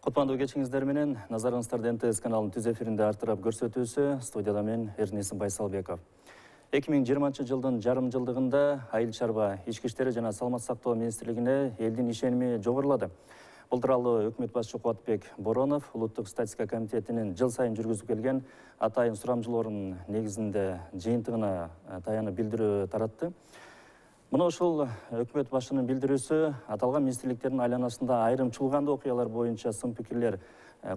Кутмандуу кечиңиздер менен назарыңыздарды НТС каналынын түз эфиринде артырап көрсөтүүсү, студияда мен Эрнесим Байсалбеков. 2020 жылдын жарым жылдыгында Айыл чарба, ички иштери жана саламаттык сактоо министрлигине элдин ишеними жогорулады. Бул тууралуу өкмөт башчысы Кубатбек Боронов улуттук статистика комитетинин жыл сайын жүргүзүп келген атайын сурамжылоорунун негизинде жыйынтыгына таянып билдирүү таратты. Мына ушул өкмөт башчынын билдирүүсү аталган министрликтердин айланасында айрым чуулгандуу окуялар боюнча сын пикирлер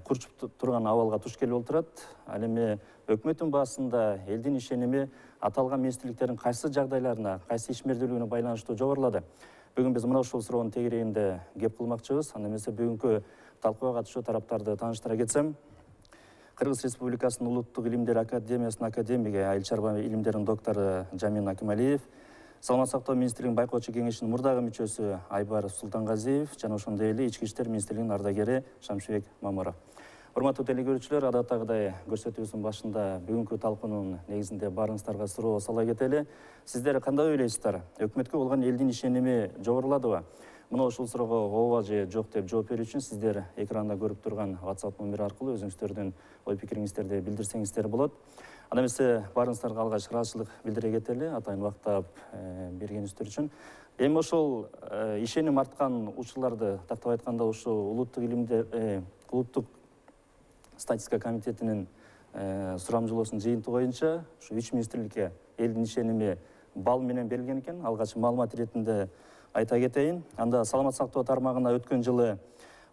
курчуп турган абалга туш келип отурат. Ал эми өкмөттүн баасында элдин ишеними аталган министрликтердин кайсы жагдайларына, кайсы ишмердүүлүгүнө байланыштуу жогорулады. Бүгүн биз мына ушул суроонун тегерегинде кеп кылмакчыбыз. Анда эмесе бүгүнкү талкууга катышуу тараптарды тааныштыра кетсем, Кыргыз Республикасынын Улуттук илимдер академиясынын академиги, айыл чарба илимдеринин доктору Жамин Акималиев, Саламаттык сактоо министрлигинин байкоочу кеңешинин мурдагы мүчөсү Айбар Султангазиев жана ошондой эле ички иштер министрлигинин ардагери Шамшыбек Маморов. Урматтуу телекөрүүчүлөр, адаттагыдай көрсөтүүбүздүн башында бүгүнкү талкуунун негизинде баарыңыздарга суроо сала кетели. Сиздер кандай ойлойсуздар? Өкмөткө болгон элдин ишеними жогоруладыбы? Мына ушул суроого ооба же жок деп жооп берүү үчүн сиздер экранда көрүп турган WhatsApp номери аркылуу өзүңүздөрдүн ой пикириңиздерди билдирсеңиздер болот. Анда эмесе баарыңыздарга алгач ыраазычылык билдире кетели, атайын убакыт бергениңиздер үчүн. Эми ошол ишеним арткан учурларды тактап айтканда ушул улуттук статистика комитетинин сурамжылоосунун жыйынтыгы боюнча ушу 3 министрликке элдин ишеними балл менен берилген экен. Алгач маалымат иретинде айта кетейин. Анда саламаттык сактоо тармагына өткөн жылы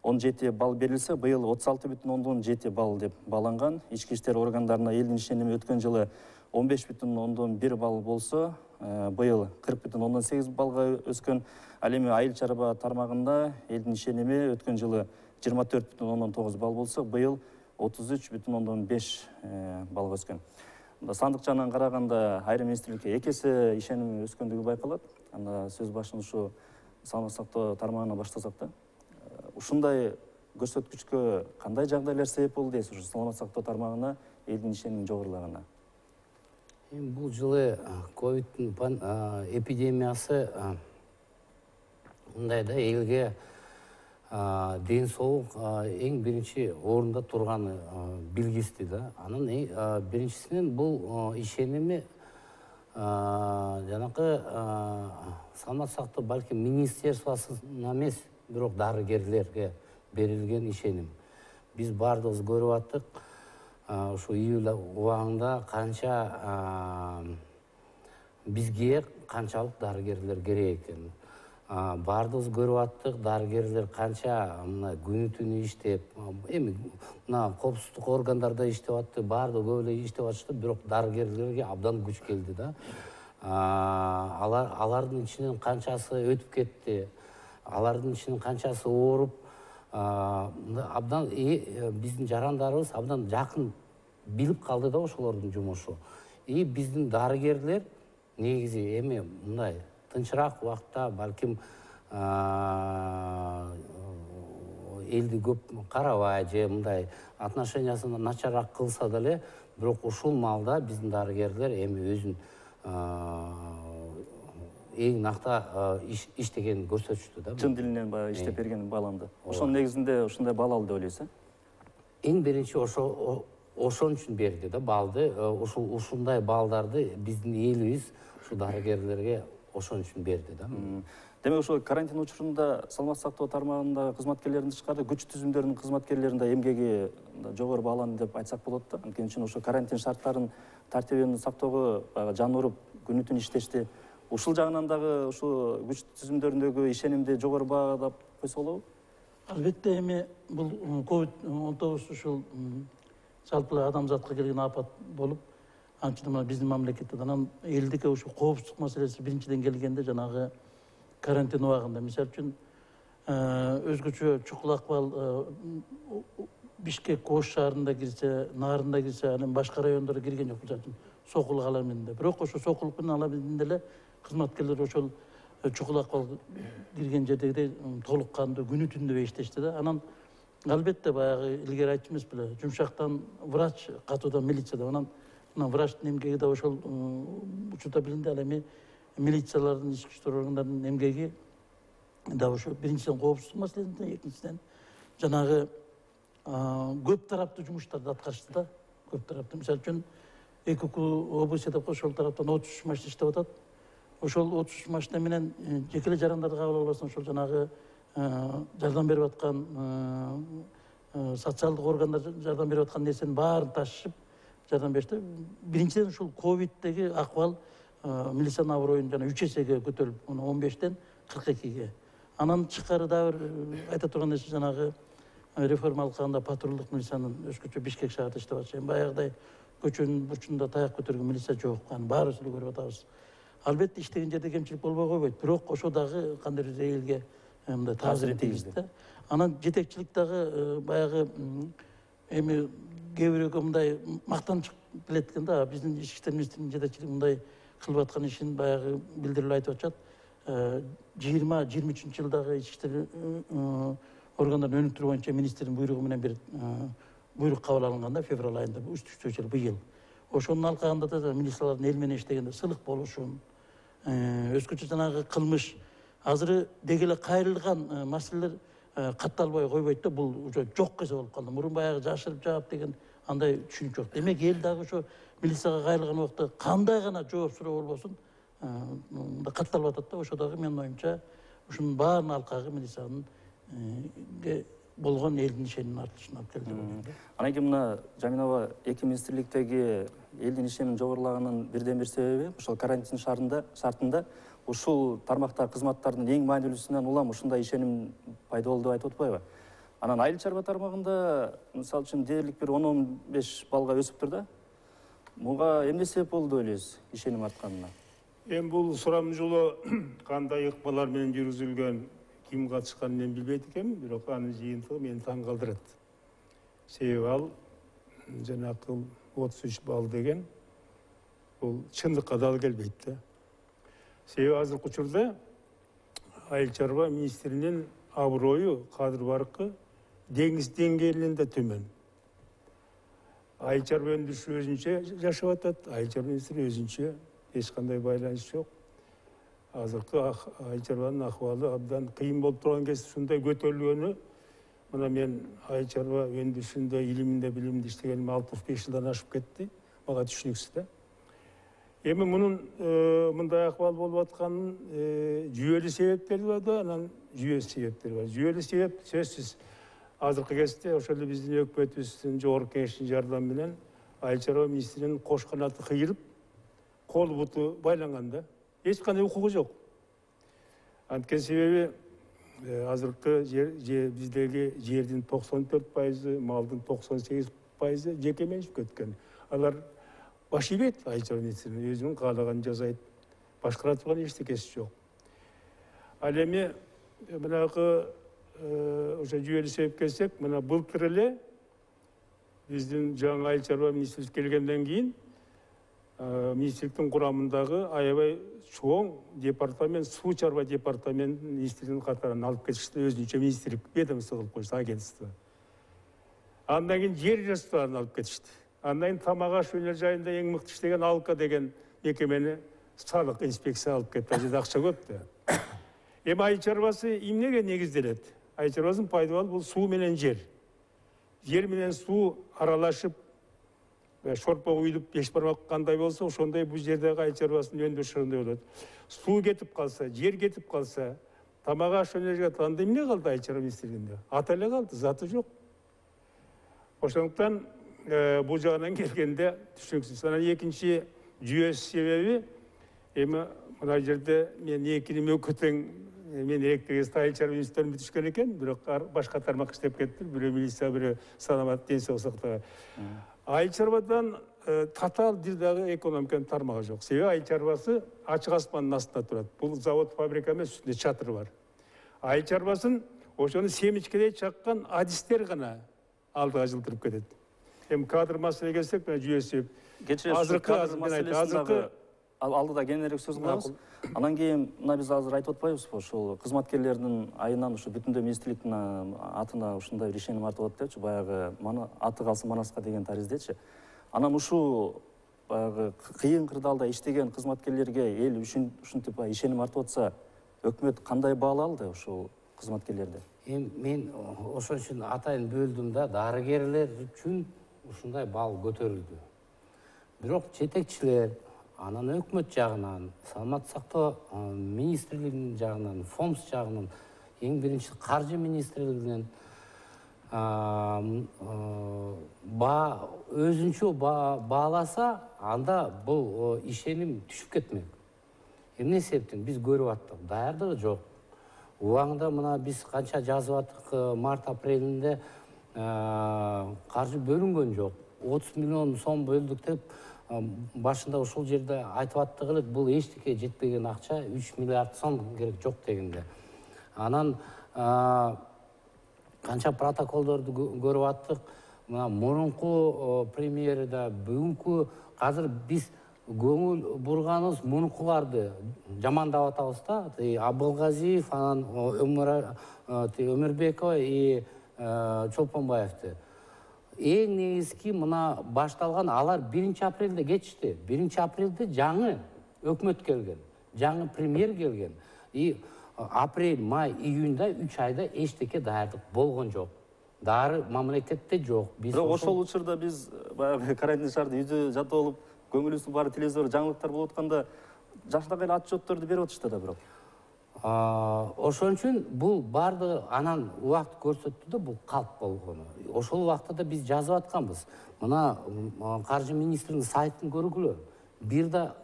17 балл берилсе, быйыл 36,7 балл деп бааланган. Ички иштер органдарына элдин ишеними өткөн жылы 15,1 балл болсо, быйыл 40,8 баллга өскөн. Ал эми айыл чарба тармагында элдин ишеними өткөн жылы 24,9 балл болсо, быйыл 33,5 баллга өскөн. Сандык жагынан караганда айрым министрликке эки эсе ишеним өскөндүгү байкалат. Анда сөз башын ушу саламаттык сактоо тармагына баштасак да. Ушундай көрсөткүчкө кандай жагдайлар себеп болду дейсиз, ушу саламаттык сактоо тармагына элдин ишенимин жогорулаганына? Бул жылы ковидтин эпидемиясы мындай да, элге ден соолук эң биринчи орунда турганы билгисти да. Анын биринчисинен бул ишеними жанакы саламаттык сактоо балким министерствосуна эмес, бирок дарыгерлерге берилген ишеним. Биз баардыгыбыз көрүп аттык, ушу июль убагында канча бизге канчалык дарыгерлер керек экен. Баардыгыбыз көрүп аттык, дарыгерлер канча мына күнү түнү иштеп, эми мына коопсуздук органдарда иштеп атты, баардыгы көп эле иштеп атышты, бирок дарыгерлерге абдан күч келди да. Алардын ичинен канчасы өтүп кетти, алардын ичинен канчасы ооруп, абдан биздин жарандарыбыз абдан жакын билип калды да ошолордун жумушу. Биздин дарыгерлер негизи эми мындай тынчыраак убакта балким элди көп карабай же мындай отношениясын начараак кылса деле, бирок ушул маалда биздин дарыгерлер эми өзүн эң накта иштегенин көрсөтүштү да. Чын дилинен иштеп берген бааланды. Ошонун негизинде ушундай балл алды деп ойлойсуз? Эң биринчи ошон үчүн берди да баллды. Ушундай баллдарды биздин элибиз ушу дарыгерлерге ошон үчүн берди да. Демек ошо карантин учурунда саламаттык сактоо тармагында кызматкерлердин тышкары күч түзүмдөрүнүн кызматкерлеринин да эмгеги жогору бааланды деп айтсак болот да. Анткени үчүн ошо карантин шарттарын тартибин сактоого жан уруп күнү түн иштешти. Ушул жагынан дагы ушу күч түзүмдөрүндөгү ишенимди жогору баалап койсо болобу? Албетте, эми бул COVID-19 ушул жалпы адамзатка келген апат болуп, анча биздин мамлекетте анан элдикке ушу коопсуздук маселеси биринчиден келгенде жанагы карантин убагында. Мисалы үчүн өзгөчө чукул акыбал Бишкек Ош шаарында кирсе, Нарында кирсе, анан башка райондорго кирген жок. Мисалы үчүн Сокул каламында. Бирок ошо Сокул каламында эле кызматкерлер ошол чукул акыбал кирген жердегидей толук кандуу күнү түндү иштешти да. Анан албетте баягы илгери айтчу эмес беле, жумшактан врач, катуудан милицияда. Анан врачтын эмгеги да ошол учурда билинди. Ал эми милициялардын, ички иштер органдарынын эмгеги да ошо биринчиден коопсуздук маселесинде, экинчиден жанагы көп тараптуу жумуштарды аткарышты да. Көп тараптуу. Мисалы үчүн ЭКК облусу деп ошол тараптан 33 машина иштеп атат. Ошол 33 машина менен жеке эле жарандарды кабыл албастан ошол жанагы жардам берип аткан социалдык органдар жардам берип аткан нерсенин баарын ташышып жардам беришти. Биринчиден ушул ковиддеги акыбал милициянын аброюн жана 3 эсеге көтөрүлүп, 15тен 42ге. Анан тышкары да бир айта турган нерсе жанагы реформа алганда патрулдук милициянын өзгөчө Бишкек шаарында иштеп атышы. Баягыдай көчөнүн бурчунда таяк көтөргөн милиция жок. Аны баарыбыз эле көрүп атабыз. Албетте иштеген жерде кемчилик болбой койбойт. Бирок ошо дагы кандайдыр элге мындай таасир тийгизди да. Анан жетекчилик дагы баягы эми кээ бирөөгө мындай мактанчык келет экен да. Биздин ички иштер министринин жетекчилиги мындай кылып аткан ишин баягы билдирилип айтып атышат. 20-23 жылдагы ички иштер органдардын өнүктүрүү боюнча министрдин буйругу менен бир буйрук кабыл алынган да, февраль айында, үстүчө жыл быйыл. Ошонун алкагында да милициялардын эл менен иштегенде сылык болушун, өзгөчө жанагы кылмыш азыр деги эле кайрылган маселелер катталбай койбойт да, бул уже жок эсе болуп калды. Мурун баягы жашырып жаап деген андай түшүнүк жок. Демек эл дагы ошо милицияга кайрылган убакта кандай гана жооп суроо болбосун катталып атат да. Ошо дагы менин оюмча ушунун баарынын алкагы милициянын болгон элдин ишенимин артышына алып келди. Анан кийин мына Жаминова эки министрликтеги элдин ишенимин жогорулаганын бирден бир себеби ошол карантин шартында ушул тармактагы кызматтардын эң маанилүүсүнөн улам ушундай ишеним пайда болду деп айтып атпайбы? Анан айыл чарба тармагында мисалы үчүн дээрлик бир 10-15 балга өсүптүр да. Буга эмне себеп болду деп ойлойсуз ишеним артканына? Эми бул сурам жолу кандай ыкмалар менен жүргүзүлгөн, ким катышканын мен билбейт экенмин, бирок анын жыйынтыгы мени таң калтырат. Себеби ал жанакы 33 балл деген бул чындыкка дал келбейт да. Себеби азыркы учурда айыл чарба министринин аброю, кадыр баркы деңиз деңгээлинен да төмөн. Айыл чарба өндүрүшү өзүнчө жашап атат, айыл чарба министри өзүнчө, эч кандай байланыш жок. Азыркы айыл чарбанын акыбалы абдан кыйын болуп турган кез ушундай көтөрүлгөнү, мына мен айыл чарба өндүрүшүндө, илиминде, билиминде иштегениме 65 жылдан ашып кетти. Мага түшүнүксүз да. Эми мунун мындай акыбал болуп атканын жүйөлүү себептери бар да, анан жүйөсүз себептери бар. Жүйөлүү себеп сөзсүз азыркы кезде ошол эле биздин өкмөтүбүздүн жогорку кеңештин жардамы менен айыл чарба министринин кош канаты кыйылып, кол буту байланган да. Эч кандай укугу жок. Анткени себеби азыркы биздеги жердин 94%, малдын 98% жеке менчикке өткөн. Алар баш ийбейт айыл чарба министринин, өзүнүн каалаганын жасайт. Башкара турган эчтекеси жок. Ал эми мынакы ошо жүйөлүү себепке келсек, мына былтыр эле биздин жаңы айыл чарба министрлик келгенден кийин министрликтин курамындагы аябай чоң департамент, суу чарба департаментинин министринин катарына алып кетишти, өзүнчө министрлик ведомство кылып коюшту, агентство. Андан кийин жер ресурстарын алып кетишти. Андан кийин тамак аш өнөр жайында эң мыкты иштеген Алка деген мекемени салык инспекция алып кетти. Ал жерде акча көп да. Эми айыл чарбасы эмнеге негизделет? Айыл чарбасынын пайдабалы бул суу менен жер. Жер менен суу аралашып, шорпо уюлуп, беш бармак кандай болсо, ошондой бул жердеги айыл чарбасынын өндүрүшү ошондой болот. Суу кетип калса, жер кетип калса, тамак аш өнөр анда эмне калды айыл чарба министрлигинде? Аты эле калды, заты жок. Ошондуктан бул жагынан келгенде түшүнүксүз. Анан экинчи жүйөсүз себеби эми мына жерде мен экинин өкөтең мен электр айыл чарба министрлигин бүтүшкөн экен, бирок башка тармак иштеп кетти. Бирөө милиция, бирөө саламат денсаулык сактоо. Айыл чарбадан татаал бир дагы экономиканын тармагы жок. Себеби айыл чарбасы ачык аспандын астында турат. Бул завод, фабрика эмес, үстүндө чатыр бар. Айыл чарбасын ошону семичкедей чаккан адистер гана алдыга жылдырып кетет. Эми кадр маселеге келсек, мына жүйөсү азыркы алдыда кененирээк сөз кылабыз. Анан кийин мына биз азыр айтып атпайбызбы, ушул кызматкерлердин айынан ушу бүтүндөй министрликтин атына ушундай бир ишеним артып атат депчи, баягы аты калсын Манаска деген тариздечи. Анан ушул баягы кыйын кырдаалда иштеген кызматкерлерге эл ушинтип ишеним артып атса, өкмөт кандай баалалды ушул кызматкерлерди? Мен ошон үчүн атайын бөлдүм да, дарыгерлер үчүн ушундай бал көтөрүлдү. Бирок жетекчилер, анан өкмөт жагынан, саламаттык сактоо министрлигинин жагынан, ФОМС жагынан, эң биринчи каржы министрлигинен өзүнчө бааласа, анда бул ишеним түшүп кетмек. Эмне себептен биз көрүп аттык, даярдыгы жок. Убагында мына биз канча жазып аттык, март-апрелинде каржы бөлүнгөн жок. 30 миллион сом бөлдүк деп башында ушул жерде айтып аттык элек, бул эчтеке жетпеген акча, 3 миллиард сом керек жок дегенде. Анан канча протоколдорду көрүп аттык. Мына мурунку премьер да, бүгүнкү азыр биз көңүл бурганыбыз мунукуларды жамандап атабыз да. Абылгазиев, анан Өмүрбекова и Чолпонбаевди. Эң негизги мына башталган, алар 1 апрелде кетишти. 1 апрелде жаңы өкмөт келген, жаңы премьер келген. И апрель, май, июнда 3 айда эчтеке даярдык болгон жок. Дары мамлекетте жок. Бирок ошол учурда биз баягы карантин шаарда үйдө жатып алып, көңүлүбүздүн баары телевизор жаңылыктар болуп атканда жакшыраак эле отчетторду берип атышты да бирок. Ошон үчүн бул баардыгы анан убакыт көрсөттү да, бул калп болгону. Ошол убакта да биз жазып атканбыз. Мына каржы министринин сайтын көргүлө. Бир да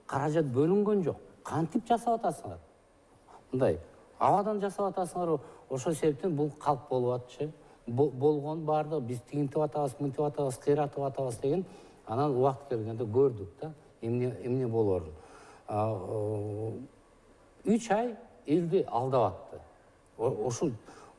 каражат бөлүнгөн жок. Кантип жасап атасыңар? Мындай абадан жасап атасыңар. Ошол себептен бул калп болуп атчы. Болгон баардыгы биз тигинтип атабыз, мынтип атабыз, кыйратып атабыз деген. Анан убакыт келгенде көрдүк да, эмне болорун. 3 ай элди алдап атты. Ошол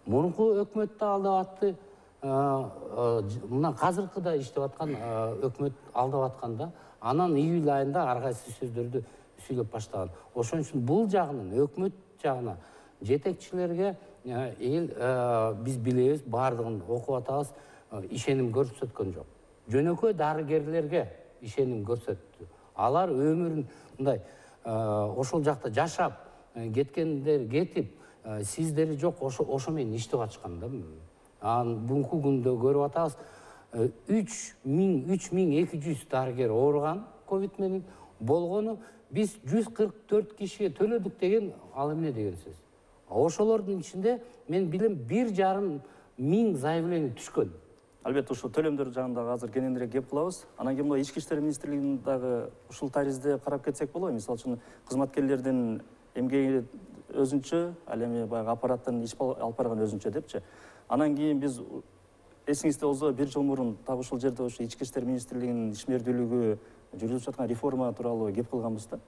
мурунку өкмөт да алдап атты. Мына казыркы да иштеп аткан өкмөт алдап атканда, анан июль айында ар кайсы сөздөрдү сүйлөп баштаган. Ошон үчүн бул жагынан, өкмөт жагына, жетекчилерге биз билебиз, баардыгын окуп атабыз, ишеним көрсөткөн жок. Жөнөкөй дарыгерлерге ишеним көрсөттү. Алар өмүрүн мындай ошол жакта жашап кеткендер кетип, сиздери жок, ошо менен иштеп атышкан да. Анан бүгүнкү күндө көрүп атабыз, 3200 дарыгер ооруган ковид менен, болгону биз 144 кишиге төлөдүк деген ал эмне деген сөз. Ошолордун ичинде мен билем 1,5 миң заявление түшкөн. Албетте ушул төлөмдөр жагында азыр кененирээк кеп кылабыз. Анан кийин Ички иштер министрлигинин дагы ушул таризде карап кетсек болобу? Мисалы үчүн кызматкерлердин эмгеги өзүнчө, ал эми баягы аппараттын иш алып барган өзүнчө депчи. Анан кийин биз эсиңизде болсо 1 жыл мурун так ушул жерде ушу Ички иштер министрлигинин ишмердүүлүгү жүргүзүп жаткан реформа тууралуу кеп кылганбыз да.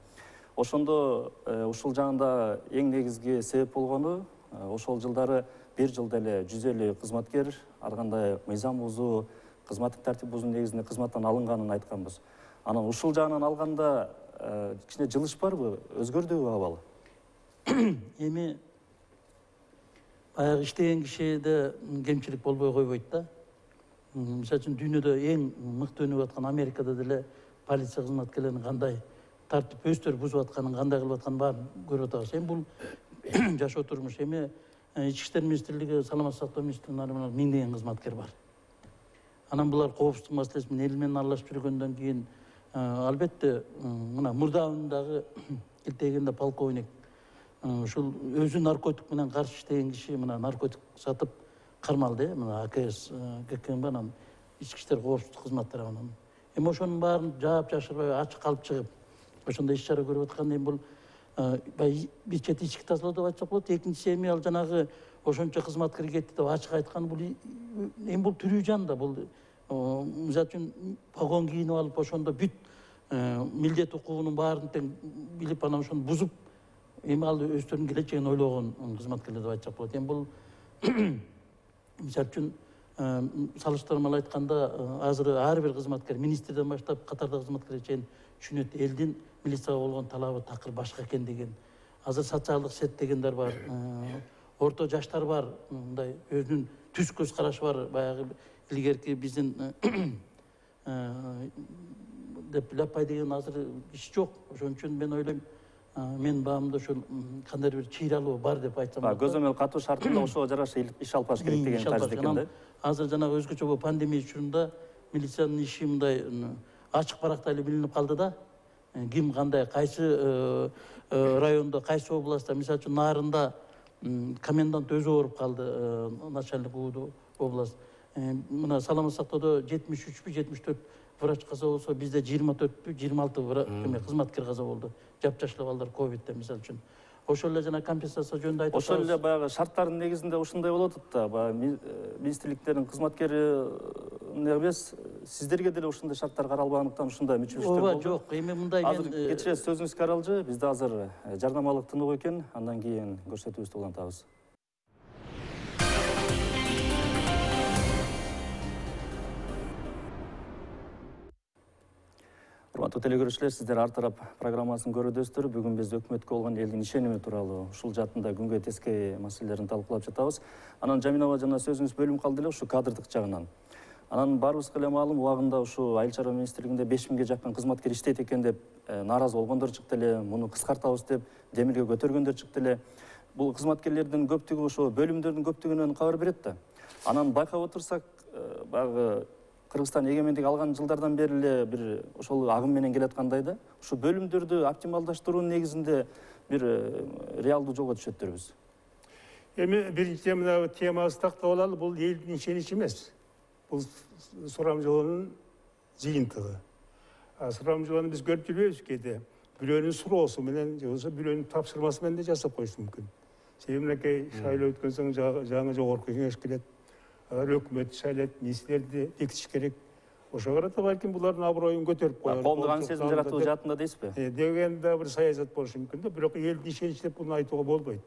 Ошондо ушул жагында эң негизги себеп болгону ошол жылдары 1 жылда эле 150 кызматкер ар кандай мыйзам бузуу, кызматтык тартип бузуу негизинде кызматтан алынганын айтканбыз. Анан ушул жагынан алганда кичине жылыш барбы, өзгөрдүбү абал? Эми баягы иштеген кишиде кемчилик болбой койбойт да. Мисалы үчүн дүйнөдө эң мыкты өнүгүп аткан Америкада деле полиция кызматкерлеринин кандай тартип өздөрү бузуп атканын, кандай кылып атканын баарын көрүп атабыз. Эми бул жашоо турмуш. Эми Ички иштер министрлиги, саламаттык сактоо министрлигинин миңдеген кызматкер бар. Анан булар коопсуздук маселеси менен эл менен аралашып жүргөндөн кийин албетте мына мурдагы келтегенде полковник ушул өзү наркотик менен каршы иштеген киши мына наркотик сатып кармалды, мына АКС ККМ анан ички иштер коопсуздук кызмат тарабынан. Эми ошонун баарын жаап жашырбай ачык калып чыгып, ошондой иш чара көрүп атканда эми бул бир чети ички тазалоо деп айтсак болот. Экинчиси эми ал жанагы ошончо кызматкер кетти деп ачык айткан бул эми бул тирүү жан да, бул мисалы үчүн погон кийинип алып ошондо бүт милдет укугунун баарын тең билип анан ошону бузуп, эми ал өздөрүнүн келечегин ойлогон кызматкерлер деп айтсак болот. Эми бул мисалы үчүн салыштырмалуу айтканда азыр ар бир кызматкер, министрден баштап катардагы кызматкерге чейин түшүнөт, элдин милицияга болгон талабы такыр башка экен деген. Азыр социалдык сет дегендер бар, орто жаштар бар, мындай өзүнүн түз көз карашы бар, баягы илгерки биздин деп лаппай деген азыр иш жок. Ошон үчүн мен ойлойм, мен баамда ошол кандайдыр бир чыйралуу бар деп айтсам болот. Көзөмөл катуу шартында ошого жараша иш алып барыш керек деген тарз экен да. Азыр жанагы өзгөчө бул пандемия учурунда милициянын иши мындай ачык баракта эле билинип калды да. Ким кандай, кайсы райондо, кайсы областта, мисалы үчүн Нарында комендант өзү ооруп калды, начальник УУД область. Мына саламат сактоодо 73 74 врач каза болсо, бизде 24 26 кызматкер каза болду. Жапжашлуу балдар ковидте мисалы үчүн. Ошол эле жана компенсация жөнүндө айтып Ошол эле баягы шарттардын негизинде ушундай болуп атат да. Баягы министрликтердин кызматкери эмес, сиздерге деле ушундай шарттар каралбагандыктан ушундай мүчүлүштөр болду. Ооба, жок. Эми мындай мен Кечиресиз, сөзүңүз каралжы. Бизде азыр жарнамалык тынуу экен, андан кийин көрсөтүүбүздү улантабыз. Урматтуу телекөрүүчүлөр, сиздер ар тарап программасын көрүүдөсүздөр. Бүгүн биз өкмөткө болгон элдин ишеними тууралуу ушул жаатында күнгө тескей маселелерин талкуулап жатабыз. Анан Жаминова жана сөзүңүз бөлүнүп калды эле ушу кадрдык жагынан. Анан баарыбызга эле маалым, убагында ушу Айыл чарба министрлигинде 5000ге жакын кызматкер иштейт экен деп нааразы болгондор чыкты эле, муну кыскартабыз деп демилге көтөргөндөр чыкты эле. Бул кызматкерлердин көптүгү ошо бөлүмдөрдүн көптүгүнөн кабар берет да. Анан байкап отурсак, баягы Кыргызстан эгемендик алган жылдардан бери эле бир ошол агым менен келаткандай да. Ушу бөлүмдөрдү оптималдаштыруунун негизинде бир реалдуу жолго түшөттүрбүз. Эми биринчиден мына темабызды тактап алалы, бул элдин ишеничи эмес. Бул сурамжылоонун жыйынтыгы. Сурамжылоону биз көрүп жүрбөйбүз кээде. Бирөөнүн суроосу менен же болбосо бирөөнүн тапшырмасы менен да жасап коюшу мүмкүн. Себеби мынакей шайлоо өткөн соң жаңы жогорку кеңеш келет. Өкмөт шайлайт, министрлерди бекитиш керек. Ошого карата балким булардын аброюн көтөрүп коелу. Коомдук сезим жаратуу жаатында дейсизби? Деген да бир саясат болушу мүмкүн да, бирок элдин ишеничи деп буну айтууга болбойт.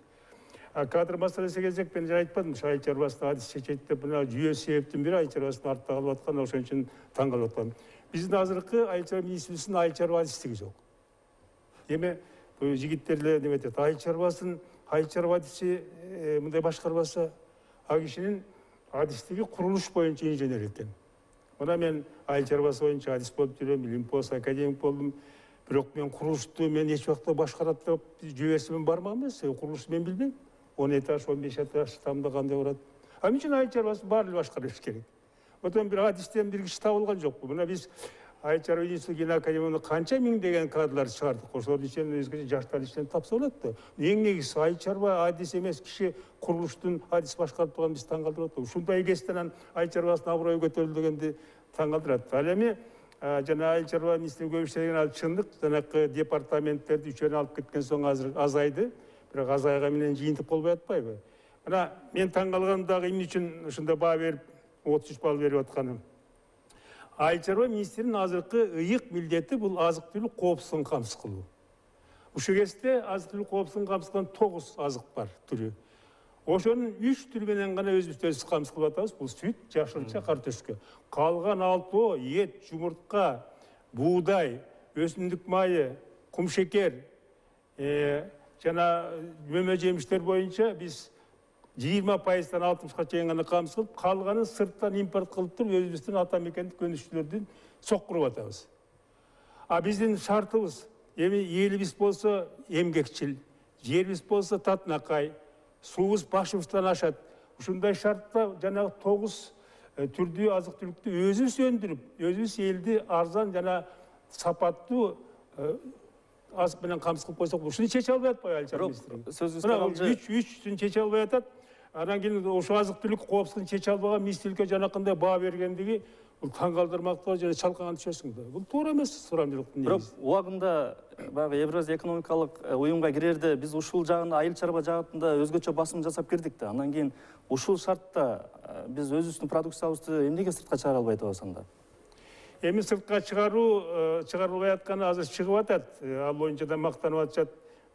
Кадр маселесине келсек, мен жана айтпадым, айыл чарбасында адис чечет деп, мына жүйө себептин бири айыл чарбасынын артта калып аткан, ошон үчүн таң калып аткан. Биздин азыркы айыл чарба министрлигинин айыл чарба адистиги жок. Эми бул жигиттер эле неме айтат, айыл чарба адиси мындай башкарбаса, ал кишинин адистиги курулуш боюнча инженер экен. Мына мен айыл чарбасы боюнча адис болуп жүрөм, Олимпос академик болдум. Бирок мен курулушту мен эч убакта башкарат деп жүйөсү менен бармам эмес. Курулушту мен билбейм. 10 этаж, 15 этаж тамда кандай барат. Ал үчүн айыл чарбасын баары эле башкарыш керек. Отон бир адистен бир киши табылган жокпу. Мына биз айыл чарба институтунун академияны канча миңдеген кадрлар чыгардык. Ошолордун ичинен өзгөчө жаштар ичинен тапса болот да. Эң негизги айыл чарба адис эмес киши курулуштун адис башкарып турган биз таң калтырып атат. Ушундай кесиптен айыл чарбасынын аброю көтөрүлдү дегенди таң калтырат. Ал эми жана айыл чарба министрлиги көп иштеген ал чындык. Жанакы департаменттерди үчөөнү алып кеткен соң азыр азайды. Бирок азайган менен жыйынтык болбой атпайбы? Мына мен таң калганым дагы эмне үчүн ушундай баа берип 33 балл берип атканым. Айыл чарба министринин азыркы ыйык милдети бул азык-түлүк коопсуздугун камсыз кылуу. Ушул кезде азык-түлүк коопсуздугун камсыз кылган 9 азык бар түрү. Ошонун 3 түрү менен гана өзүбүз камсыз кылып атабыз. Бул сүт, жашылча, картөшкө. Калган алтоо, эт, жумуртка, буудай, өсүмдүк майы, кумшекер, жана мөмө жемиштер боюнча биз 20%-дан 60-га чейин гана камсыз кылып, калганын сырттан импорт кылып туруп, өзүбүздүн ата мекендик өнүгүүчүлөрдүн соккуруп атабыз. Биздин шартыбыз эми элибиз болсо эмгекчил, жерибиз болсо татынакай, суубуз башыбыздан ашат. Ушундай шартта жанагы 9 түрдүү азык-түлүктү өзүбүз өндүрүп, өзүбүз элди арзан жана сапаттуу азык менен камсыз кылып койсок, ушуну чече албай атпайбы айыл чарба министрлиги? Сөзүңүз калжы. Үчүн чече албай атат. Анан кийин ошо азык-түлүк коопсуздугун чече албаган министрликке жанакындай баа бергендиги бул таң калтырмактуу жана чалкаган түшөсүң да. Бул туура эмес сурамжылыктын негизи. Бирок убагында баягы Евразия экономикалык уюмга кирерде биз ушул жагын айыл чарба жаатында өзгөчө басым жасап кирдик да. Андан кийин ушул шартта биз өзүбүздүн продукциябызды эмнеге сыртка чыгара албай атабыз анда? Эми сыртка чыгарылбай атканы азыр чыгып атат. Ал боюнча да мактанып атышат.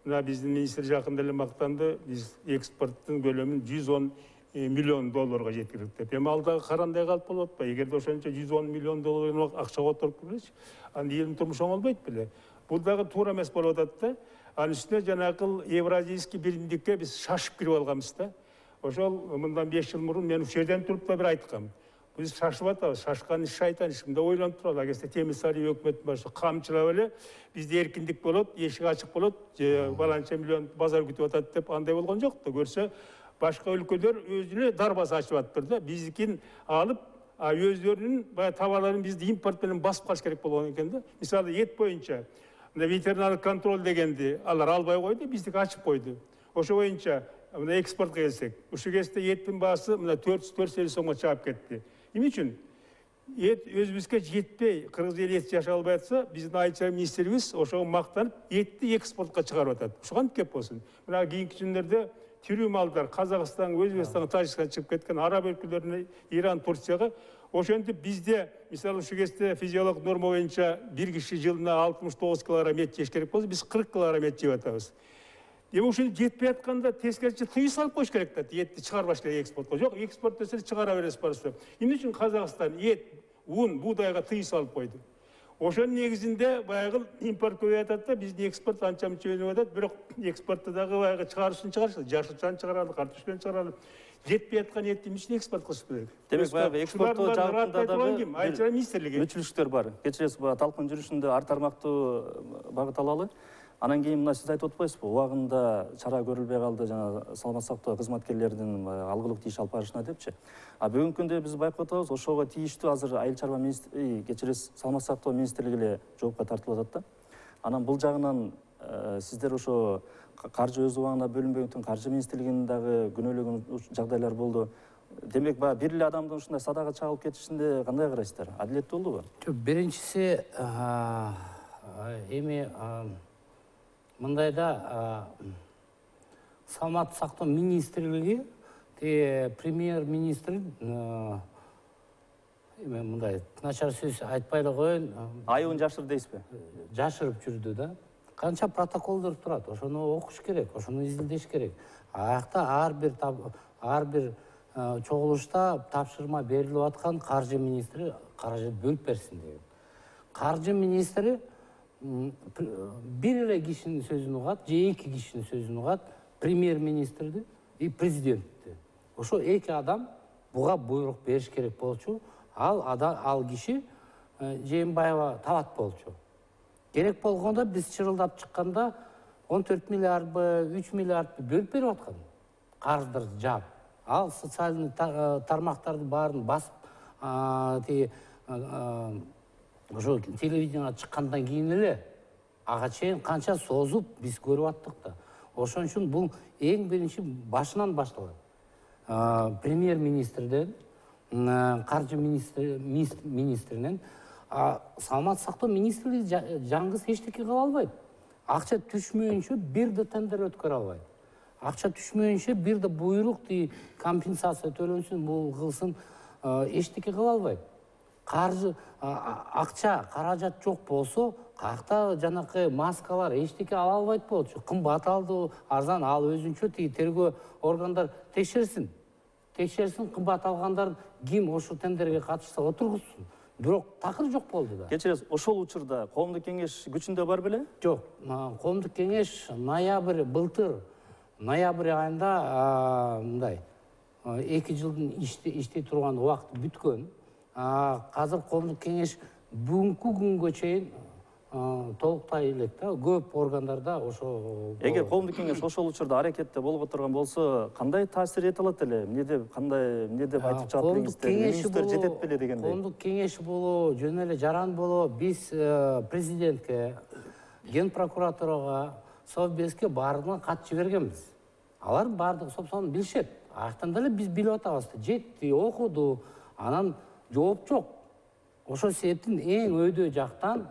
Мына биздин министр жакында эле мактанды. Биз экспорттун көлөмүн 110 миллион долларга жеткирдик деп. Эми алдагы карандай калып болуп атпайбы? Эгерде ошончо 110 миллион доллар акчага отуруп келечи, анда элдин турмушу оңолбойт беле? Бул дагы туура эмес болуп атат да. Анын үстүнө жанакы евразийский биримдикке биз шашып кирип алганбыз да. Ошол мындан 5 жыл мурун мен ушул жерден туруп да бир айткам. Биз шашып атабыз, шашкан иш шайтан иш. Мында ойлонуп туралы, агерде Темирсарый өкмөтүн башы камчылап эле бизде эркиндик болот, эшик ачык болот, же баланча миллион базар күтүп атат деп андай болгон жок да. Көрсө башка өлкөлөр өзүнө дарбаза ачып атыптыр да. Биздикин алып, өздөрүнүн баягы товарларын бизди импорт менен басып калыш керек болгон экен да. Мисалы, эт боюнча мына ветеринарлык контроль дегенди алар албай койду, биздики ачып койду. Ошо боюнча мына экспортко келсек, ушул кезде эттин баасы мына 450 сомго чыгып кетти. Эмне үчүн? Эт өзүбүзгө жетпей, кыргыз эли эт жашай албай атса, биздин айыл чарба министрлигибиз ошого мактанып, этти экспортко чыгарып атат. Ушуга кантип кеп болсун? Мына кийинки күндөрдө тирүү малдар Казакстан, Өзбекстан, Тажикстан чыгып кеткен, араб өлкөлөрүнө, Иран, Турцияга. Ошентип бизде, мисалы, ушул кезде физиологик норма боюнча бир киши жылына 69 килограмм эт жеш керек болсо, биз 40 килограмм эт жеп атабыз. Эми ушуну жетпей атканда тескерисинче тыюу салып коюш керек да, этти чыгарбаш керек экспортко. Жок, экспорт десе чыгара бересиз барса. Эмне үчүн Казакстан эт, ун, буудайга тыюу салып койду? Ошонун негизинде баягы импорт көбөйүп атат да, биздин экспорт анча мынча өнүп атат, бирок экспортто дагы баягы чыгарышын чыгарышты, жашылчаны чыгаралы, картошканы чыгаралы. Жетпей аткан этти эмне үчүн экспорт кылыш керек? Демек, баягы экспорттоо жагында дагы айыл чарба министрлиги мүчүлүктөр бар. Кечиресиз, талкын жүрүшүндө ар тармактуу багыт алалы. Анан кийин мына сиз айтып атпайсызбы, убагында чара көрүлбөй калды, жана саламат сактоо кызматкерлеринин алгылык иш алып барышына депчи. Бүгүнкү күндө биз байкап атабыз, ошого тийиштүү азыр айыл чарба министрлиги, кечиресиз, саламат сактоо министрлиги эле жоопко тартылып атат да. Анан бул жагынан сиздер ошо каржы өз убагында бөлүнбөгөндүктөн каржы министрлигинин дагы күнөөлөгөн жагдайлар болду. Демек, бир эле адамдын ушундай садага чагылып кетишинде кандай карайсыздар? Адилеттүү болдубу? Жок, биринчиси эми мындайда саламаттык сактоо министрлиги, премьер-министр эми мындай начар сөз айтпай эле коеюн. Айыбын жашыр дейсизби? Жашырып жүрдү да. Канча протоколдор турат, ошону окуш керек, ошону изилдеш керек. Аякта ар бир чогулушта тапшырма берилип аткан каржы министри каражат бөлүп берсин деген. Каржы министри бир эле кишинин сөзүн угат, же эки кишинин сөзүн угат, премьер-министрди и президентти. Ошо эки адам буга буйрук бериш керек болчу. Ал киши Жээнбаева табат болчу. Керек болгондо биз чырылдап чыкканда 14 миллиардбы, 3 миллиардбы бөлүп берип аткан. Карыздарды жаап. Ал социальный тармактарды баарын басып, ошо телевиденияга чыккандан кийин эле ага чейин канча созуп биз көрүп аттык да. Ошон үчүн бул эң биринчи башынан башталат. Премьер-министрден, каржы министринен, саламат сактоо министрлиги жаңгыз эчтеке кыла албайт. Акча түшмөйүнчө бир да тендер өткөрө албайт. Акча түшмөйүнчө бир да буйрук компенсация төлөнсүн, бул кылсын, эчтеке кыла албайт. Акча, каражат жок болсо, каякта жанакы маскалар эчтеке ала албайт болчу. Кымбат алды, арзан, ал өзүнчө тергөө органдар текшерсин. Кымбат алгандар ким ошол тендерге катышса отургузсун. Бирок такыр жок болду да. Кечиресиз, ошол учурда коомдук кеңеш күчүндө бар беле? Жок, коомдук кеңеш былтыр ноябрь айында мындай 2 жылдын иштей турган убакыты бүткөн. Азыр коомдук кеңеш бүгүнкү күнгө чейин толуктай элек да, көп органдарда ошо. Эгер коомдук кеңеш ошол учурда аракетте болуп отурган болсо, кандай таасир эте алат эле? эмне деп айтып чыгат элеңиздер? Мүнүздөр жетет беле дегендей. Коомдук кеңеш болобу, жөн эле жаран болобу, биз президентке, ген прокуратурага, Совбезге баарына кат жибергенбиз. Алар баардыгы сопсонун билишет. Аяктан деле биз билип атабыз. Жетти, окуду, анан жооп жок. Ошол себептен эң өйдө жактан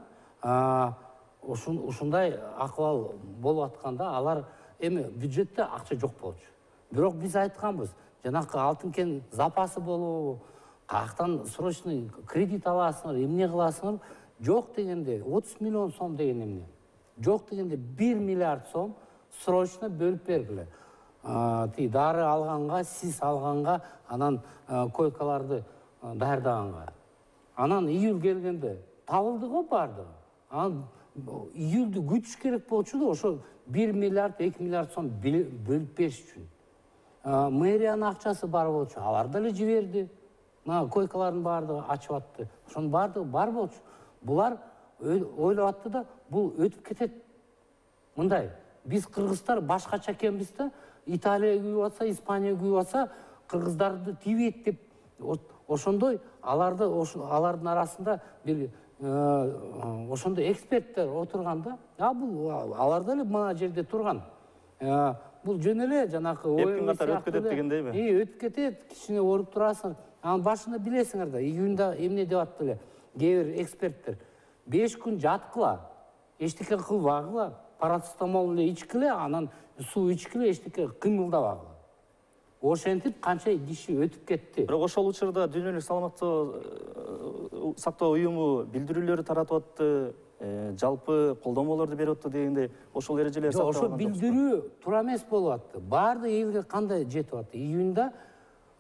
ушундай акыбал болуп атканда алар эми бюджетте акча жок болчу. Бирок биз айтканбыз, жанакы алтын кен запасы болобу, каяктан срочный кредит аласыңар, эмне кыласыңар? Жок дегенде 30 миллион сом деген эмне? Жок дегенде 1 миллиард сом срочно бөлүп бергиле. Дары алганга, сис алганга, анан койкаларды даярдаганга. Анан июль келгенде табылды го бардыгы. Анан июльдү күтүш керек болчу да, ошо 1 миллиард, 2 миллиард сом бөлүп бериш үчүн. Мэриянын акчасы бар болчу, алар деле жиберди. мына койкалардын баардыгы ачып атты. Ошонун баардыгы бар болчу. Булар ойлоп атты да, бул өтүп кетет. Мындай, биз кыргыздар башкача экенбиз да, Италия күйүп атса, Испания күйүп атса, кыргыздарды тийбейт деп ошондой алардын арасында бир ошондой эксперттер отурган да. Бул алар деле мына жерде турган. Бул жөн эле жанакы эркин катары өтүп кетет дегендейби? Өтүп кетет, кичине ооруп турасың. Анын башында билесиңер да, июнда эмне деп атты эле кээ бир эксперттер. 5 күн жаткыла, эчтеке кылбагыла, парацетамол эле ичкиле, анан суу ичкиле, эчтеке кыймылдабагыла. Ошентип канча киши өтүп кетти. Бирок ошол учурда Дүйнөлүк саламаттык сактоо уюму билдирүүлөрү таратып атты, жалпы колдомолорду берип атты дегенде, ошол эрежелер сакталган. Ошо билдирүү туура эмес болуп атты. Баардык элге кандай жетип атты? Июнда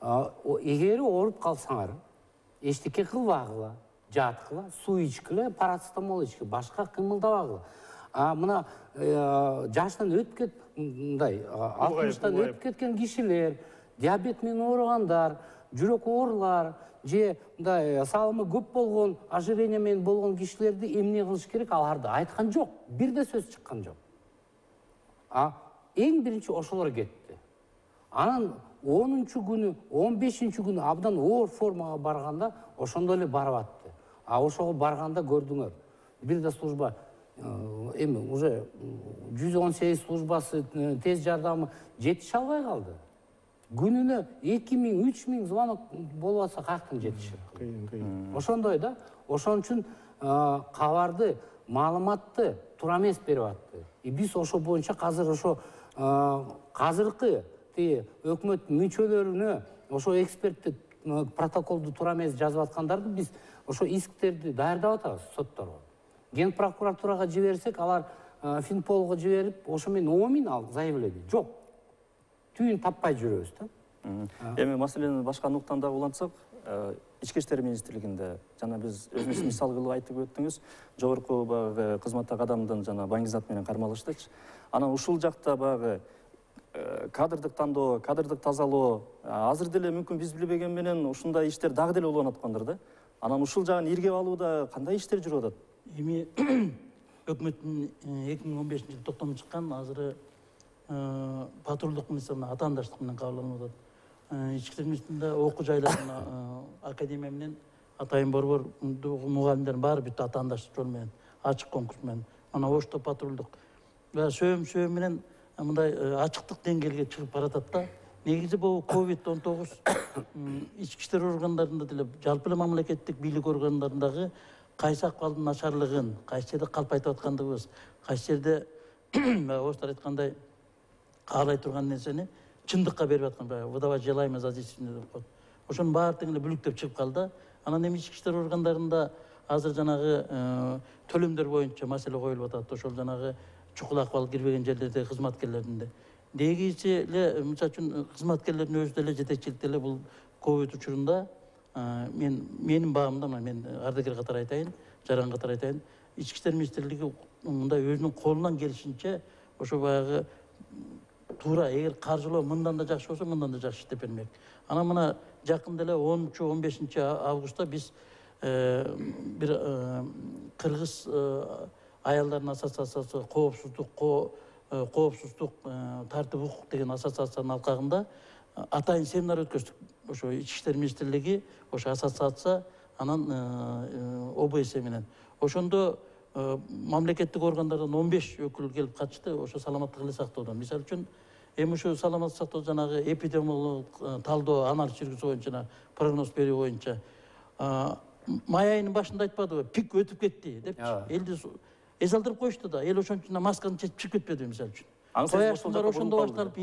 эгер ооруп калсаңар, эчтеке кылбагыла, жаткыла, суу ичкиле, парацетамол ичкиле, башка кыймылдабагыла. Мына жаштан өтүп кет, мындай 60-тан өтүп кеткен кишилер, диабет менен ооругандар, жүрөк оорулар, же мындай салымы көп болгон, ожирение менен болгон кишилерди эмне кылыш керек, аларды айткан жок. Бир да сөз чыккан жок. Эң биринчи ошолор кетти. Анан 10-күнү, 15-күнү абдан оор формага барганда ошондо эле барып атты. Ошого барганда көрдүңөр. Бир да служба эми уже 118 службасы, тез жардамы жетише албай калды. Күнүнө 2000-3000 звонок болуп атса каяктан жетишет? Кыйын. Ошондой да. Ошон үчүн кабарды, маалыматты туура эмес берип атты. Биз ошо боюнча азыр ошо азыркы өкмөт мүчөлөрүнө ошо эксперттик протоколду туура эмес жазып аткандарды биз ошо исктерди даярдап атабыз сотторго. Ген прокуратурага жиберсек, алар Финполго жиберип, ошо менен 10.000 ал заявление. Жок. Түйүн таппай жүрөбүз да. Эми маселени башка нуктанда улантсак, Ички иштер министрлигинде жана биз өзүңүз мисал кылып айтып өттүңүз, жогорку баягы кызматтагы адамдын жана баңгизат менен кармалыштычы. Анан ушул жакта баягы кадрдык тандоо, кадрдык тазалоо азыр деле мүмкүн биз билбеген менен ушундай иштер дагы деле уланып аткандыр да. Анан ушул жагын иргеп алууда кандай иштер жүрүп атат? Эми өкмөттүн 2015-жылы токтому чыккан, азыр патрулдук милиция атаандаштык менен кабылданып атат. Ички иштер министрлигинде окуу жайлардын академия менен атайын борбор мугалимдердин баары бүт атаандаштык жол менен, ачык конкурс менен. Ана ошто патрулдук сөйөм менен мындай ачыктык деңгээлге чыгып баратат да. Негизи бул COVID-19 ички иштер органдарында деле, жалпы эле мамлекеттик бийлик органдарындагы кайсы акыбалдын начарлыгын, кайсы жерде калп айтып аткандыгыбыз, кайсы жерде орустар айткандай каалай турган нерсени чындыкка берип аткан, выдавать желаемое за действительное деп коет. Ошонун баардыгын эле бүлүктөп чыгып калды. Анан эми ички иштер органдарында азыр жанагы төлөмдөр боюнча маселе коюлуп атат. Ошол жанагы чукул акыбал кирбеген жерлердеги кызматкерлердин де. Дегичи эле, мисалы үчүн кызматкерлердин өзү деле, жетекчилик деле бул ковид учурунда менин багымда, мен ардагер катары айтайын, жаран катары айтайын, ички иштер министрлиги мындай өзүнүн колунан келишинче ошо баягы туура, эгер каржылоо мындан да жакшы болсо, мындан да жакшы иштеп бермек. Анан мына жакында эле 10-15 августта биз бир кыргыз аялдардын ассоциациясы коопсуздук тартип укук деген ассоциациянын алкагында атайын семинар өткөздүк. Ошо ички иштер министрлиги, ошо ассоциация, анан ОБС менен. Ошондо мамлекеттик органдардан 15 өкүл келип катышты, ошо саламаттык эле сактоодон. Мисалы үчүн, эми ушу саламаттык сактоо жанагы эпидемиологдук талдоо, анализ жүргүзүү боюнча, прогноз берүү боюнча май айынын башында айтпадыбы, пик өтүп кетти депчи. Элди эс алдырып коюшту да, эл ошон үчүн масканы чечип чыгып кетпеди, мисалы үчүн. Кояштар ошондо башталып,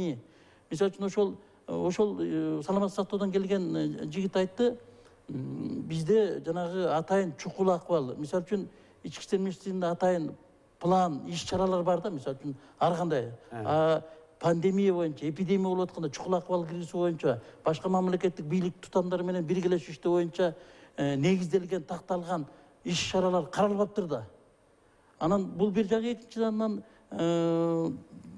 мисалы үчүн ошол саламаттык сактоодон келген жигит айтты, бизде жанагы атайын чукул акыбал, мисалы үчүн ички иштер министрлигинде атайын план, иш чаралар бар да, мисалы үчүн ар кандай пандемия боюнча, эпидемия болуп атканда чукул акыбал киргизүү боюнча, башка мамлекеттик бийлик тутамдары менен биргелешип иштөө боюнча негизделген, такталган иш чаралар каралбаптыр да. Анан бул бир жагы, экинчиден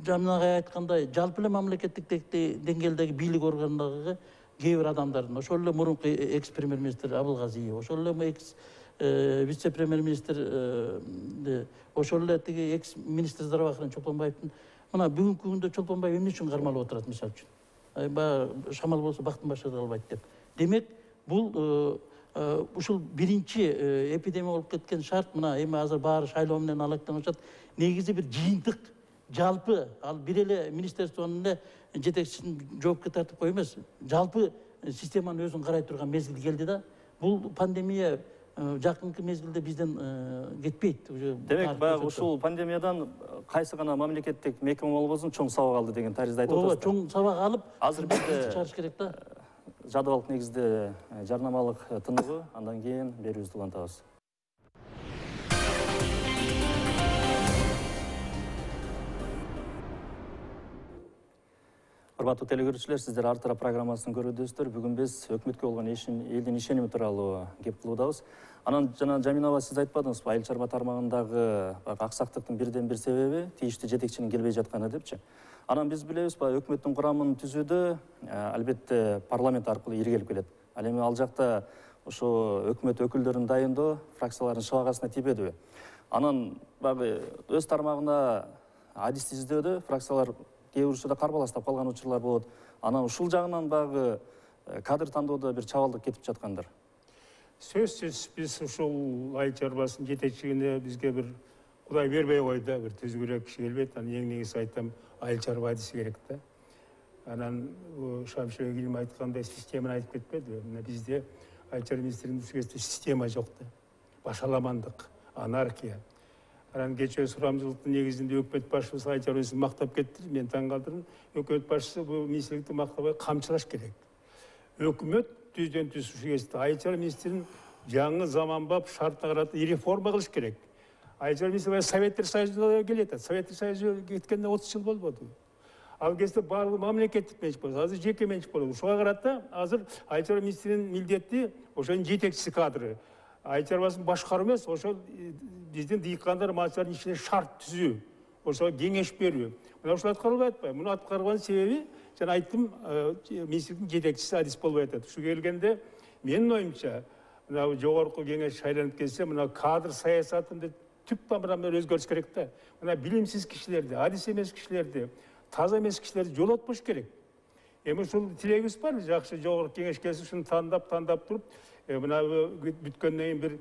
жанагы айткандай жалпы эле мамлекеттик деңгээлдеги бийлик органдагы кээ бир адамдардын, ошол эле мурунку экс премьер министр Абылгазиев, ошол эле экс вице премьер министр, ошол эле тиги экс министр здравоохранения Чолпонбаевдин мына бүгүнкү күндө Чолпонбаев эмне үчүн кармалып отурат мисалы үчүн? Баягы шамал болсо бактын башка калбайт деп. Демек, бул ушул биринчи эпидемия болуп кеткен шарт мына эми азыр баары шайлоо менен алектенип атат. Негизи бир жыйынтык жалпы ал бир эле министерствонун эле жетекчисин жоопко тартып кой эмес, жалпы системанын өзүн карай турган мезгил келди да. Бул пандемия жакынкы мезгилде бизден кетпейт. Демек, баягы ушул пандемиядан кайсы гана мамлекеттик мекеме болбосун чоң сабак алды деген таризде айтып атасыз. Чоң сабак алып, азыр бизде чыгарыш керек да. Жадыбалык негизде жарнамалык тыныгуу, андан кийин берүүбүздү улантабыз. Урматтуу телекөрүүчүлөр, сиздер Ар тарап программасын көрүүдөсүздөр. Бүгүн биз өкмөткө болгон элдин ишеними тууралуу кеп кылуудабыз. Анан жана Жамина сиз айтпадыңызбы, айыл чарба тармагындагы аксактыктын бирден бир себеби тийиштүү жетекчинин келбей жатканы депчи. Анан биз билебиз, өкмөттүн курамын түзүүдө албетте парламент аркылуу иргелип келет. Ал эми ал жакта ошо өкмөт өкүлдөрүн дайындоо фракциялардын шыбагасына тийбедиби? Анан баягы өз тармагына адисти издөөдө фракциялар кээ бир учурда карбаластап калган учурлар болот. Анан ушул жагынан баягы кадр тандоодо бир чабалдык кетип жаткандар. Сөзсүз биз ушул айыл чарбасынын жетекчилигине бизге бир Кудай бербей койду, бир түзгүрөөк киши келбейт. Анан эң негизи айтам, айыл чарба адиси керек да. Анан Шамшыр Игилим айткандай системаны айтып кетпеди. Мына бизде айыл чарба министрлигинин система жок да. Башаламандык, анархия. Анан кечээ сурамжылыктын негизинде өкмөт башчысы айыл чарба министрин мактап кетти. Мен таң калтырдым. Өкмөт башчысы бул министрликти мактабай камчылаш керек. Өкмөт түздөн түз ушул кезде айыл чарба министрин жаңы заманбап шартына карата реформа кылыш керек. Айыл чарба министри Советтер Союзуна келет. Советтер Союзу кеткенде 30 жыл болбоду. Ал кезде баардыгы мамлекеттик менчик болду. Азыр жеке менчик болду. Ушуга карата азыр айыл чарба министринин милдети ошонун жетекчиси кадры. Айыл чарбасын башкаруу эмес, ошол биздин дыйкандар малчылардын ишине шарт түзүү, ошого кеңеш берүү. Мына ушул аткарылбай атпайбы? Муну аткарганын себеби, жана айттым, министрликтин жетекчиси адис болбой атат. Ушу келгенде менин оюмча, мына жогорку кеңеш шайланып келсе, мына кадр саясатында түп тамырдан өзгөрүш керек да. Мына билимсиз кишилерди, адис эмес кишилерди, таза эмес кишилерди жолотпош керек. Эми ушул тилегибиз бар, жакшы жогорку кеңеш келсе, ушуну тандап туруп, мына бүткөндөн кийин бир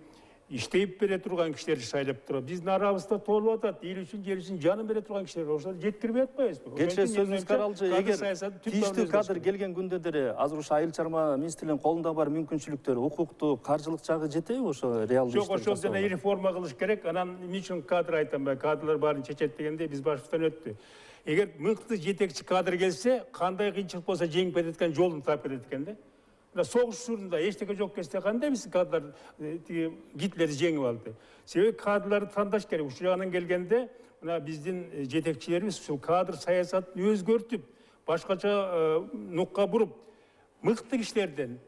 иштеп бере турган кишилерди шайлап туруп, биздин арабызда толуп атат, эл үчүн, жер үчүн жанын бере турган кишилер, ошолорду жеткирбей атпайбызбы? Кечээ сөзүңүз каралчы, эгер тийиштүү кадр келген күндө деле азыр ушу айыл чарба министрлигинин колунда бар мүмкүнчүлүктөр, укуктуу, каржылык жагы жетеби ошо реалдуу иштер? Жок, ошол жана реформа кылыш керек. Анан эмне үчүн кадр айтам, кадрлар баарын чечет дегенде биз башыбыздан өттү. Эгер мыкты жетекчи кадр келсе, кандай кыйынчылык болсо жеңип кетет экен, жолун таап кетет экен да. Мына согуш учурунда эчтеке жок кезде кандай биз кадрлар Гитлерди жеңип алды. Себеби кадрларды тандаш керек. Ушул жагынан келгенде, мына биздин жетекчилерибиз ушул кадр саясатын өзгөртүп, башкача нукка буруп, мыкты кишилерден,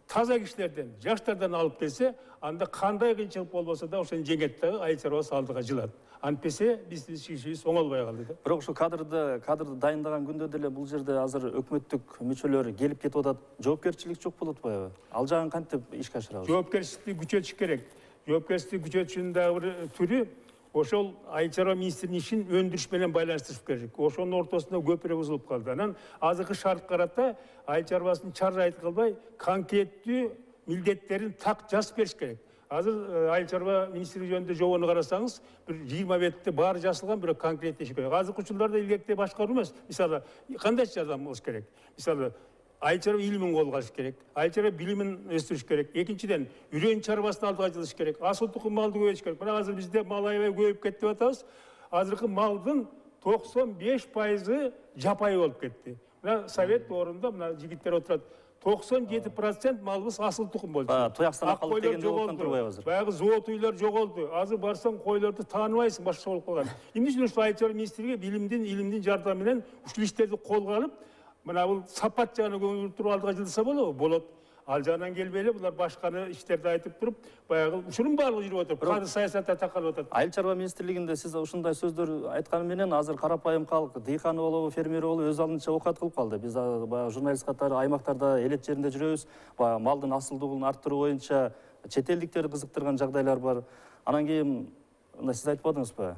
таза кишилерден, жаштардан алып келсе, анда кандай кыйынчылык болбосо да ошону жеңет дагы, айыл чарбасы алдыга жылат. Антпесе биздин ишибиз оңолбой калды да. Бирок ушу кадрды дайындаган күндө деле бул жерде азыр өкмөттүк мүчөлөр келип кетип атат. Жоопкерчилик жок болуп атпайбы? Ал жагын кантип ишке ашырабыз? Жоопкерчиликти күчөтүш керек. Жоопкерчиликти күчөтүшүнүн дагы бир түрү ошол айыл чарба министринин ишин өндүрүш менен байланыштырыш керек. Ошонун ортосунда көпүрө бузулуп калды. Анан азыркы шартка карата айыл чарбасынын чаржайт кылбай, конкреттүү милдеттерин так жазып бериш керек. Азыр айыл чарба министрлиги жөнүндө жобону карасаңыз, бир 20 бетте баары жазылган, бирок конкреттеши керек. Азыркы учурларда илгерктей башкаруу эмес. Мисалы, кандай жардам болуш керек? Мисалы, айыл чарба илимин колго алыш керек, айыл чарба билимин өстүрүш керек. Экинчиден, үрөн чарбасын алдыга жылыш керек, асыл тукум малды көбөйтүш керек. Мына азыр бизде мал аябай көбөйүп кетти деп атабыз. Азыркы малдын 95% жапайы болуп кетти. Мына совет орунда мына жигиттер отурат. 97% малыбыз асыл тукум болчу. Туяксанак калып дегенде болуп турбайбы азыр? Баягы зоот уйлар жоголду. Азыр барсаң койлорду тааныбайсың, башка болуп калган. Эмне үчүн ушул айыл чарба министрлиги илимдин жардамы менен ушул иштерди колго алып, мына бул сапат жагына көңүл туруп алдыга жылдаса болобу? Болот. ал жагынан келбей эле булар башканы иштерди айтып туруп, баягы ушунун баардыгы жүрүп атат. Казыр саясатта такалып атат. Айыл чарба министрлигинде сиз ушундай сөздөр айтканы менен азыр карапайым калк, дыйканы болобу, фермер болобу өз алдынча окат кылып калды. Биз баягы журналист катары аймактарда элет жеринде жүрөбүз. Баягы малдын асылдуулугун арттыруу боюнча чет элдиктерди кызыктырган жагдайлар бар. Анан кийин мына сиз айтып атыңызбы?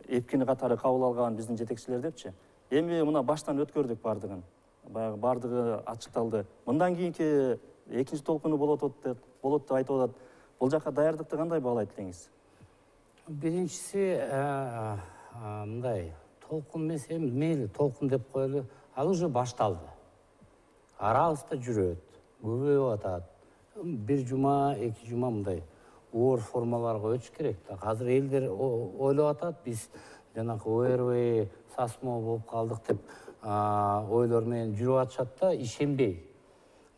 Эпкини катары кабыл алган биздин жетекчилер депчи. Эми мына баштан өткөрдүк бардыгын. Баягы бардыгы ачыкталды. Мындан кийинки экинчи толкуну болот деп айтып атат. Бул жакка даярдыкты кандай баалайт элеңиз? Биринчиси мындай толкун эмес, эми мейли толкун деп коелу. Ал уже башталды. Арабызда жүрөт, көбөйүп атат. Бир жума, эки жума мындай оор формаларга өтүш керек да. Азыр элдер ойлоп атат, биз жанакы ОРВ, САСМО болуп калдык деп ойлор менен жүрүп атышат да, ишенбей.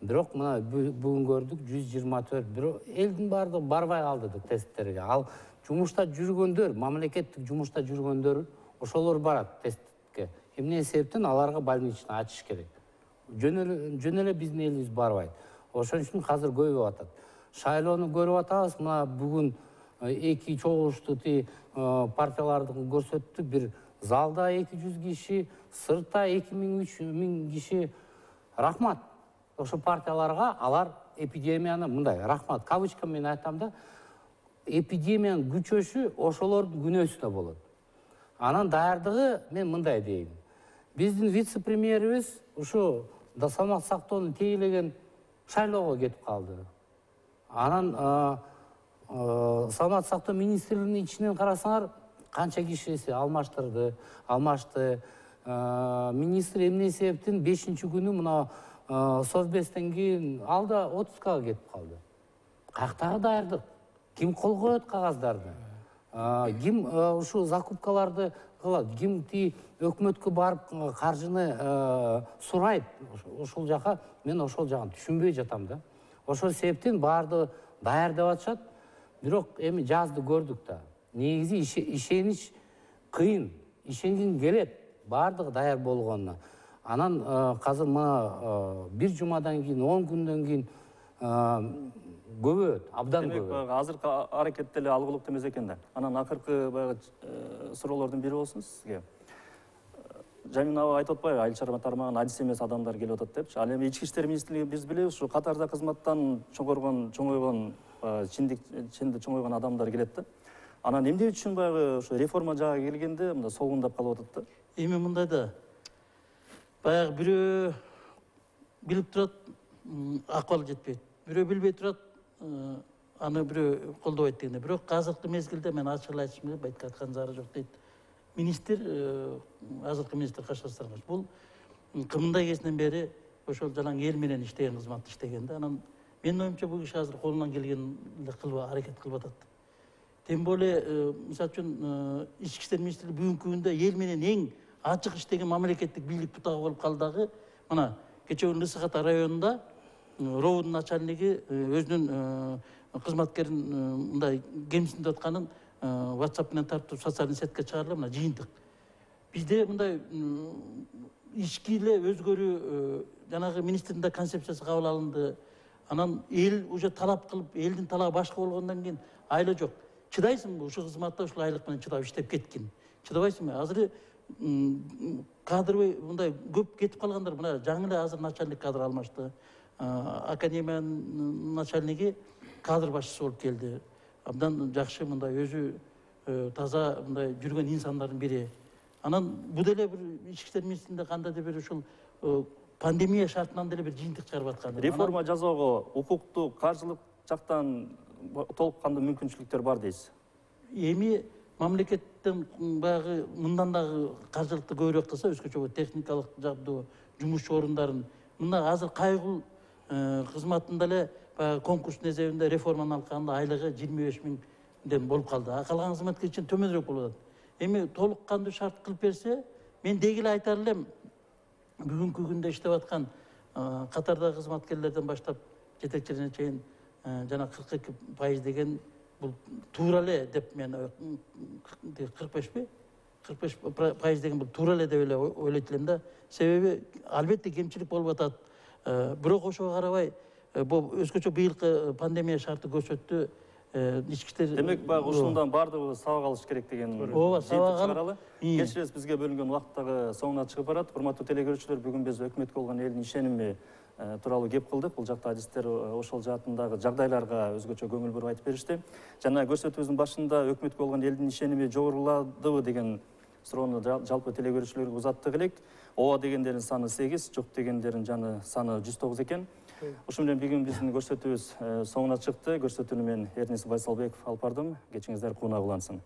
Бирок мына бүгүн көрдүк 124, бирок элдин баардыгы барбай калды тесттерге. Ал жумушта жүргөндөр, мамлекеттик жумушта жүргөндөр ошолор барат тестке. Эмне себептен аларга больничный ачыш керек. Жөн эле биздин элибиз барбайт. Ошон үчүн азыр көбөйүп атат. Шайлоону көрүп атабыз, мына бүгүн эки чогулушту партияларды көрсөттү. Бир залда 200 киши, сыртта 2000-3000 киши. Рахмат. Ошо партияларга алар эпидемияны мындай рахмат кавычка менен айтам да, эпидемиянын күчөшү ошолордун күнөөсүнө болот. Анан даярдыгы мен мындай дейм. Биздин вице-премьерибиз ушу салмак сактоонун тейлеген шайлоого кетип калды. Анан саламаттык сактоо министрлигинин ичинен карасаңар, канча кишиси алмашты. Министр эмне себептен 5-күнү мына совбестен кийин ал да отпускага кетип калды. Каяктагы даярдык? Ким кол коет кагаздарды? Ким ушу закупкаларды кылат? Ким өкмөткө барып каржыны сурайт? Ошол жака мен ошол жагын түшүнбөй жатам да. Ошол себептен баардыгы даярдап атышат. Бирок эми жазды көрдүк да. Негизи ишенич кыйын, ишенгин келет баардыгы даяр болгонуна. Анан азыр мына бир жумадан кийин, 10 күндөн кийин көбөйөт, абдан көбөйөт. Азыркы аракет деле алгылыктуу эмес экен да. Анан акыркы баягы суроолордун бири болсун сизге. Жамин аба айтып атпайбы, айыл чарба тармагына адис эмес адамдар келип атат депчи. Ал эми ички иштер министрлиги биз билебиз, ушу катарда кызматтан чоңойгон чоңойгон адамдар келет да. Анан эмне үчүн баягы ушу реформа жагы келгенде мында солгундап калып атат да? Эми мындай да. Баягы бирөө билип турат, акыбалы жетпейт. Бирөө билбей турат, аны бирөө колдобойт дегенде. Бирок азыркы мезгилде мен ачык эле айтышым керек, айтка аткан зары жок дейт. Министр, азыркы министр Кашар Саргаш, бул кымындай кезинен бери ошол жалаң эл менен иштеген кызматты иштеген да. Анан менин оюмча бул киши азыр колунан келген аракет кылып атат. Тем более, мисалы үчүн ички иштер министрлиги бүгүнкү күндө эл менен эң ачык иштеген мамлекеттик бийлик бутагы болуп калдыгы. Мына кечээ күнү Ысык Ата районунда РОУдун начальниги өзүнүн кызматкерин мындай кемсинип атканын WhatsApp менен тартып социалдык сетке чыгарылып, мына жыйынтык. Бизде мындай ички эле өзгөрүү жанагы министрдин да концепциясы кабыл алынды. Анан эл уже талап кылып, элдин талабы башка болгондон кийин айла жок. Чыдайсыңбы ушул кызматта ушул айлык менен чыдап иштеп кеткин? Чыдабайсыңбы? Азыр кадровый мындай көп кетип калгандар, мына жаңы эле азыр начальник кадр алмашты. Академиянын начальниги кадр башчысы болуп келди. Абдан жакшы мындай өзү таза мындай жүргөн инсандардын бири. Анан бул деле бир ички иштер министрлигинде кандайдыр бир ушул пандемия шартынан деле бир жыйынтык чыгарып аткан. Реформа жасоого укуктук, каржылык жактан толук кандуу мүмкүнчүлүктөр бар дейсиз? Эми мамлекеттен баягы мындан дагы каржылыкты көбүрөөк кылса, өзгөчө техникалык жабдуу, жумушчу орундарын мына азыр кайгыл кызматында эле конкурстун эсебинде реформаны алганда айлыгы 25 000ден болуп калды. Калган кызматкер үчүн төмөнүрөөк болуп атат. Эми толук кандуу шарт кылып берсе, мен деги эле айтар элем, бүгүнкү күндө иштеп аткан катардагы кызматкерлерден баштап жетекчилерине чейин жана 42% деген бул туура эле деп мен 45 деген бул туура эле деп эле ойлойт элем да. Себеби албетте кемчилик болуп атат. Бирок ошого карабай бул өзгөчө быйылкы пандемия шарты көрсөттү. Ички иштер демек баягы ушундан баардыгы сабак алыш керек деген ооба, сабак алып чыгаралы. Кечиресиз, бизге бөлүнгөн убакыт дагы соңуна чыгып барат. Урматтуу телекөрүүчүлөр, бүгүн биз өкмөткө болгон элдин ишеними тууралуу кеп кылдык. Бул жакта адистер ошол жаатындагы жагдайларга өзгөчө көңүл буруп айтып беришти. Жана көрсөтүүбүздүн башында өкмөткө болгон элдин ишеними жогоруладыбы деген суроону жалпы телекөрүүчүлөргө узаттык элек. Ооба дегендердин саны 8, жок дегендердин саны 109 экен. Ушун менен бүгүн биздин көрсөтүүбүз соңуна чыкты. Көрсөтүүнү мен Эрнис Байсалбеков алып бардым. Кечиңиздер куунак улансын.